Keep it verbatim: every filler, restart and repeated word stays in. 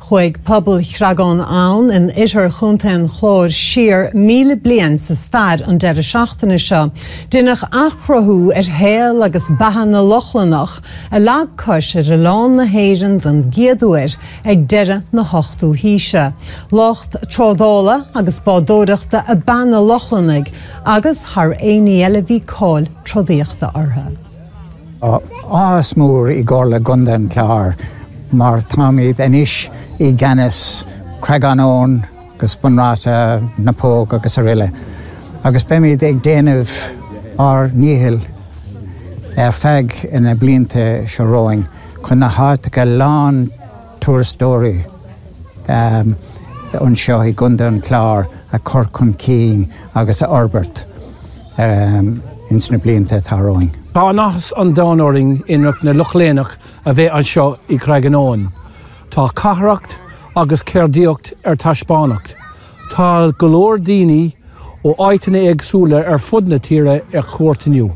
Chuaigh pobal Chreagán Abhann in oirthear Chontae an Chláir siar míle bliain sa stair an deireadh seachtaine seo. Deineadh athchruthú ar shaol agus beatha na Lochlannach a leag cos ar oileán na hÉireann den gcéad uair ag deireadh na hochtú haoise. Lucht trádála agus bádóireachta ab ea na Lochlannaigh agus thar aon ní eile bhí cáil trodaíochta orthu. Áthas mór i gComhairle Contae an Chláir mar táimid anois i gceannas Creagán Abhann agus Bun Ráta na Póg agus araile. Agus beimid ag déanamh ár ndícheall ar feadh na blianta seo romhainn chun na háiteacha lán turasóirí um, anseo i gContae an Chláir a chur chun cinn agus a fhorbairt um, ins na blianta atá romhainn. Tá áthas an domhain orainn oidhreacht na Lochlannach a bheith anseo i gCreagán Abhann. Tá carthanacht agus ceardaíocht ar taispeáint. Tá go leor daoine ó áiteanna éagsúla ar fud na tíre ar cuairt inniu.